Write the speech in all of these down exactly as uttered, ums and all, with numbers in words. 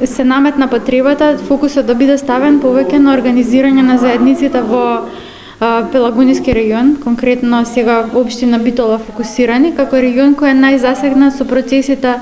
Се наметна потребата фокусот да биде ставен повеќе на организирање на заедниците во Пелагониски регион, конкретно сега општина Битола фокусирани како регион кој е најзасегнат со процесите,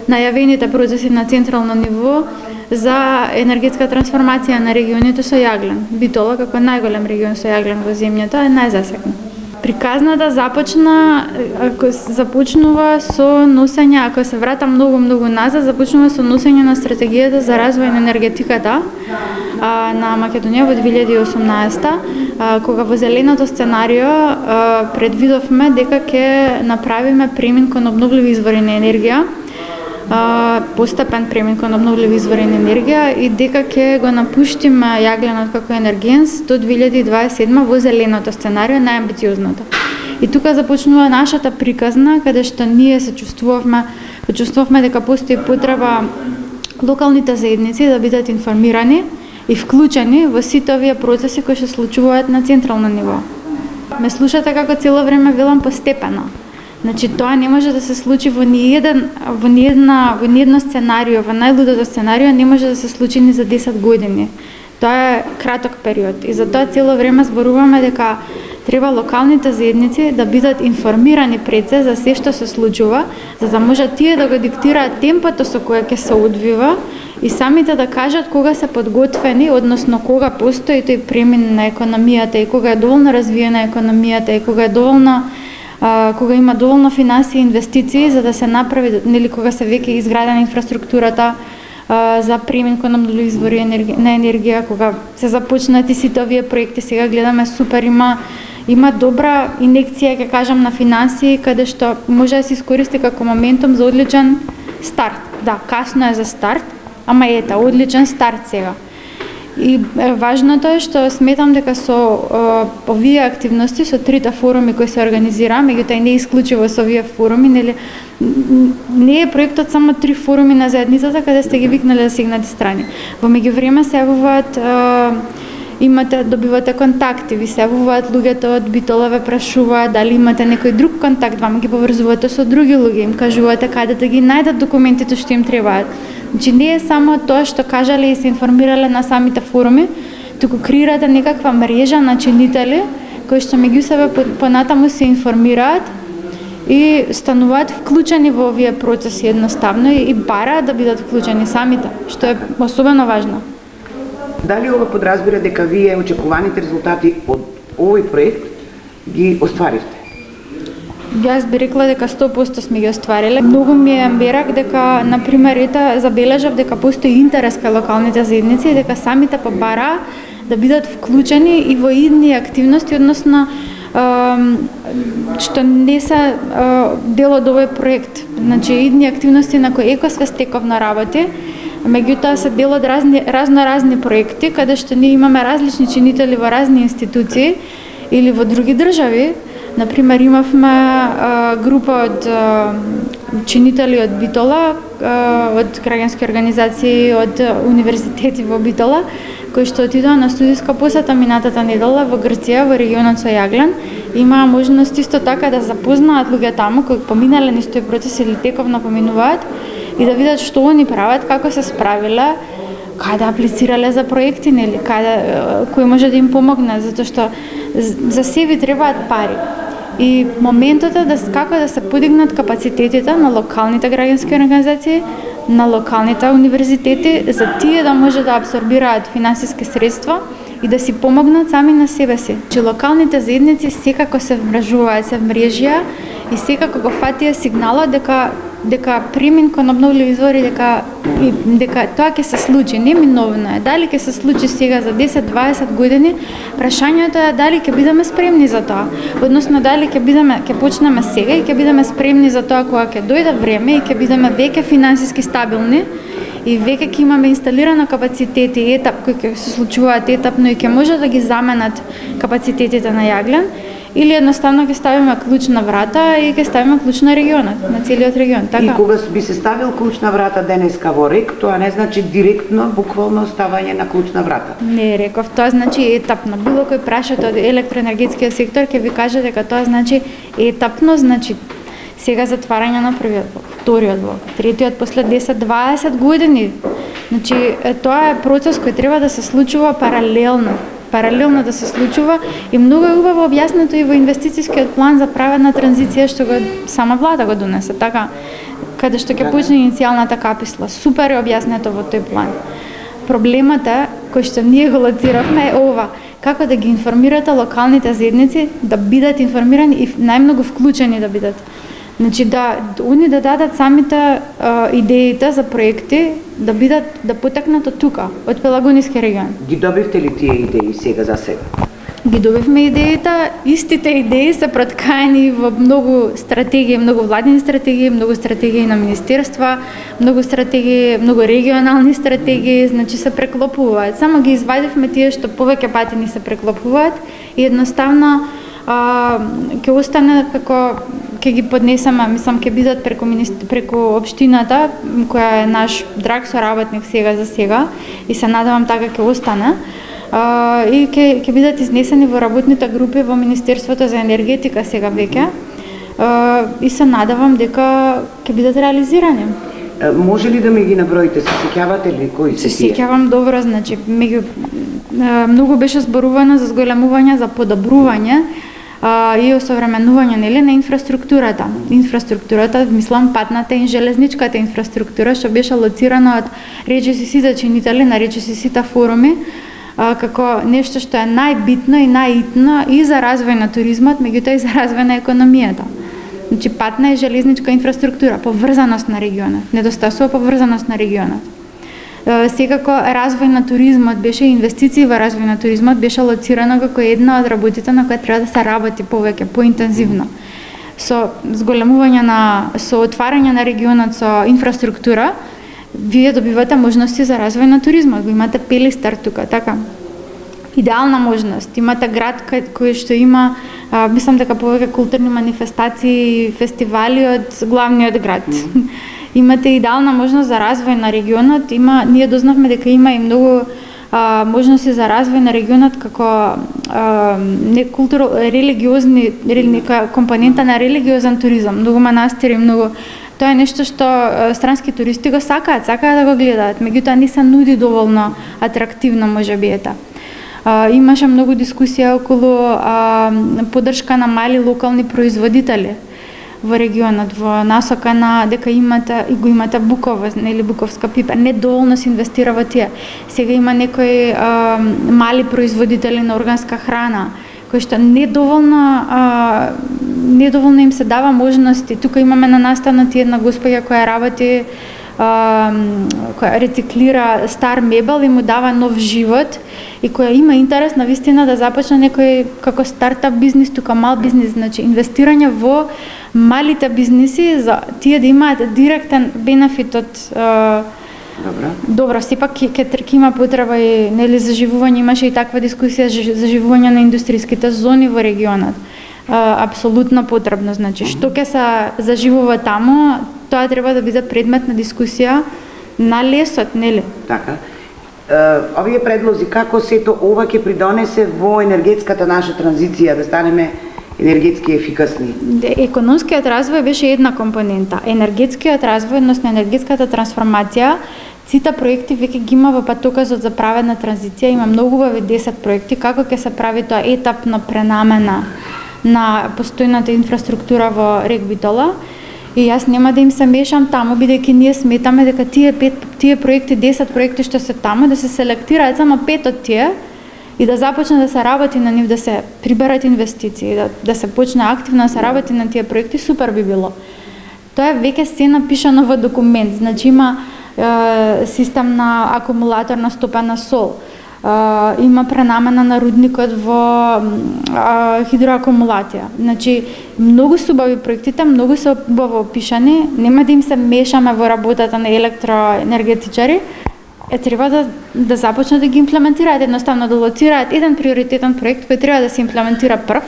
најавените процеси на централно ниво за енергетска трансформација на регионите со јаглен. Битола како најголем регион со јаглен во земјата е најзасегнат. Приказната започна, ако започнува со носење, ако се вратам многу многу назад, започнува со носење на стратегијата за развој на енергетиката а, на Македонија во две илјади и осумнаесета, а, кога во зеленото сценарио а, предвидовме дека ќе направиме премин кон обновливи извори на енергија, а, постепен премин кон обновливи извори на енергија и дека ќе го напуштиме јагленот како енергенс до две илјади и дваесет и седма во зеленото сценарио, најамбициозното. И тука започнува нашата приказна, каде што ние се чувствувавме, почувствувавме дека постои потреба локалните заедници да бидат информирани и вклучени во сите овие процеси кои се случуваат на централно ниво. Ме слушате како цело време велам постепено. Значи тоа не може да се случи во ниеден во ниедна во ниедно сценарио, во најлудото сценарио не може да се случи ни за десет години. Тоа е краток период и затоа цело време зборуваме дека треба локалните заедници да бидат информирани пред се за се што се случува, за да можат тие да го диктираат темпото со кое ќе се одвива и самите да кажат кога се подготвени, односно кога постои тој премин на економијата и кога е доволно развиена економијата и кога е доволно а, кога има доволно финансии и инвестиции за да се направи, нели кога се веќе изградена инфраструктурата а, за премин кон обновливи извори на енергија, кога се започнати сите овие проекти, сега гледаме супер, има има добра инекција, ќе кажам, на финансии, каде што може да се искористи како моментум за одличен старт. Да, касно е за старт, ама ета, одличен старт сега. И е, важното е што сметам дека со е, овие активности, со трите форуми кои се организираа, меѓутоа и не исклучиво со овие форуми, нели не е проектот само три форуми на заедницата каде сте ги викнале засегнати страни. Во меѓувреме се јавуваат е, имате, добивате контакти, ви се јавуваат луѓето од Битола, ве прашуваат дали имате некој друг контакт, вама ги поврзувате со други луѓе, им кажувате каде да ги најдат документите што им требаат. Значи не е само тоа што кажале и се информирале на самите форуми, туку креирате некаква мрежа на чинители кои што меѓу себе понатаму се информираат и стануваат вклучени во овие процеси едноставно и, и бараат да бидат вклучени самите, што е особено важно. Дали ова подразбира дека вие очекуваните резултати од овој проект ги остваривте? Јас би рекла дека сто проценти сме ги оствариле. Многу ми е мерак дека, например, ета забележав дека постои интерес кај локалните заедници и дека самите побараа да бидат вклучени и во идни активности, односно што не се дел од овој проект. Значи, идни активности на кои Екосвест тековно работи, меѓутоа се дел од разни, разноразни проекти, каде што ние имаме различни чинители во разни институции или во други држави. Например, имавме а, група од а, чинители од Битола, а, од граѓански организации, од универзитети во Битола, кои што отидоа на студиска посета минатата недела во Грција, во регионот со јаглен. Имаа можност исто така да запознаат луѓе таму кои поминале низ тој процес или тековно поминуваат и да видат што они прават, како се справиле, каде аплицирале за проекти, нели, каде кој може да им помогне, затоа што за себе требаат пари. И моментот е да како да се подигнат капацитетите на локалните граѓански организации, на локалните универзитети, за тие да може да абсорбираат финансиски средства и да си помогнат сами на себе си. Че локалните заедници секако се вмрежуваат, се вмрежија и секако го фатија сигналот дека дека премин кон обновливи извори, дека и, дека тоа ќе се случи, неминовно е. Дали ќе се случи сега за десет до дваесет години, прашањето е дали ќе бидеме спремни за тоа. Односно дали ќе бидеме ќе почнеме сега и ќе бидеме спремни за тоа кога ќе дојде време и ќе бидеме веќе финансиски стабилни и веќе ќе имаме инсталирано капацитети и етап кои ќе се случуваат етапно и ќе може да ги заменат капацитетите на јаглен. Или едноставно ќе ставиме клуч на врата и ќе ставиме клуч на регионот, на целиот регион. Така. И кога би се ставил клуч на врата денеска во РЕК, тоа не значи директно, буквално ставање на клуч на врата. Не, реков, тоа значи етапно. Било кој прашате од електроенергетскиот сектор ќе ви каже дека тоа значи етапно, значи сега затварање на првиот блок, вториот блок, третиот после десет до дваесет години. Значи, тоа е процес кој треба да се случува паралелно, паралелно да се случува и многу е убаво објаснето и во инвестицијскиот план за праведна транзиција што го сама влада го донесе, така, каде што ќе почне иницијалната каписла. Супер е објаснето во тој план. Проблемот е, кој што ние го лоциравме, е ова: како да ги информирате локалните заедници да бидат информирани и најмногу вклучени да бидат. Значи да они да дадат самите а, идеите за проекти да бидат да потекнат од тука, од Пелагонискиот регион. Ги добивте ли тие идеи сега за сега? Ги добивме идеите, истите идеи се проткаени во многу стратегии, многу владини стратегии, многу стратегии на министерства, многу стратегии, многу регионални стратегии, значи се преклопуваат. Само ги извадивме тие што повеќе пати ни се преклопуваат и едноставно а, ќе остане како ќе ги поднесеме, мислам ќе бидат преку преку општината која е наш драг соработник сега за сега и се надевам така ќе остане. Uh, и ќе ќе бидат изнесени во работните групи во Министерството за енергетика сега веќе uh, и се надевам дека ќе бидат реализирани. Uh, може ли да ми ги наброите? Се сеќавате ли кои се тие? Се сеќавам добро, значи меѓу uh, многу беше зборувано за зголемување, за подобрување uh, и осовременување нели на инфраструктурата. Инфраструктурата, мислам патната и железничката инфраструктура што беше лоцирана од речиси сите чинители на речиси сите форуми, А, како нешто што е најбитно и најитно и за развој на туризмот, меѓутоа и за развој на економијата. Значи патна и железничка инфраструктура, поврзаност на регионот, недостасува поврзаност на регионот. Е, секако развој на туризмот беше инвестиции во развој на туризмот беше лоцирано како една од работите на која треба да се работи повеќе, поинтензивно. Со зголемување на со отварање на регионот со инфраструктура, вие добивате можности за развој на туризмот, го имате Пелистар тука, така. Идеална можност. Имате град кај кој што има, а, мислам дека повеќе културни манифестации и фестивали од главниот град. Mm. Имате идеална можност за развој на регионот. Има, ние дознавме дека има и многу а, можности за развој на регионот како а, не културо религиозни нека компонента на религиозен туризам, многу манастири, многу. Тоа е нешто што странски туристи го сакаат, сакаат да го гледаат, меѓутоа не се нуди доволно атрактивно можеби ета. А, имаше многу дискусија околу а, поддршка на мали локални производители во регионот, во насока на дека имате и го имате буково, нели буковска пипер, не доволно се инвестира во тие. Сега има некои а, мали производители на органска храна кои што недоволно а, недоволно им се дава можности. Тука имаме на настанати една госпоѓа која работи, а, која рециклира стар мебел и му дава нов живот и која има интерес на вистина да започне некој како стартап бизнис, тука мал бизнис, значи инвестирање во малите бизниси за тие да имаат директен бенефит од а, Добро. Добро, сепак ќе ќе има потреба и нели заживување, имаше и таква дискусија за заживување на индустријските зони во регионот. А, апсолутно потребно, значи што ќе се заживува таму, тоа треба да биде предмет на дискусија на лесот, нели? Така. Е, овие предлози како сето ова ќе придонесе во енергетската наша транзиција да станеме енергетски ефикасни? Економскиот развој беше една компонента. Енергетскиот развој, односно енергетската трансформација, сите проекти веќе ги има во патоказот за праведна транзиција, има многу убави десет проекти како ќе се прави тоа етапно пренамена на постојната инфраструктура во Рек Битола. И јас нема да им се мешам таму, бидејќи ние сметаме дека тие пет тие проекти, десет проекти што се таму, да се селектираат само пет од тие и да започне да се работи на нив, да се приберат инвестиции, да, да се почне активно да се работи на тие проекти, супер би било. Тоа е веќе се напишано во документ, значи има е, систем на акумулаторна стопена сол, е, има пренамена на рудникот во е, хидроакумулација. Значи, многу се убави проектите, многу се убаво опишани, нема да им се мешаме во работата на електроенергетичари, е треба да, да започнат да ги имплементираат, едноставно да лоцираат еден приоритетен проект кој треба да се имплементира прв,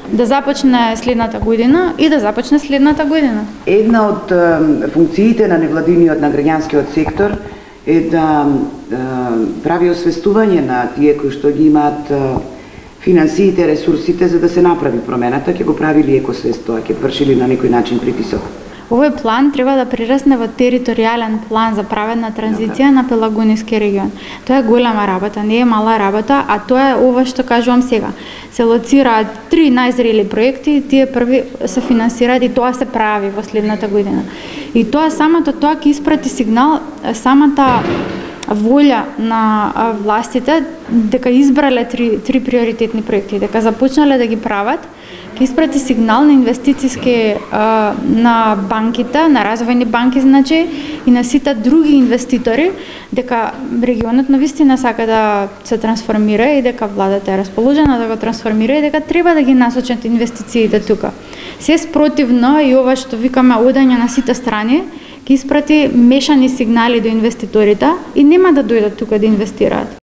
да започне следната година и да започне следната година. Една од е, функциите на невладиниот, на граѓанскиот сектор е да е, прави освестување на тие кои што ги имаат е, финансиите, ресурсите за да се направи промената, ќе го правили екосвест, тоа ќе вршили на некој начин притисок. Овој план треба да прерасне во територијален план за праведна транзиција на Пелагониски регион. Тоа е голема работа, не е мала работа, а тоа е ова што кажувам сега. Се лоцираат три најзрели проекти, тие први се финансираат и тоа се прави во следната година. И тоа самото тоа ќе испрати сигнал, самата волја на властите дека избрале три, три приоритетни проекти, дека започнале да ги прават, ќе испрати сигнал на инвестициски на банките, на развојни банки, значи, и на сите други инвеститори, дека регионот навистина сака да се трансформира и дека владата е расположена да го трансформира и дека треба да ги насочат инвестициите тука. Се спротивно и ова што викаме одање на сите страни, ќе испрати мешани сигнали до инвеститорите и нема да дојдат тука да инвестираат.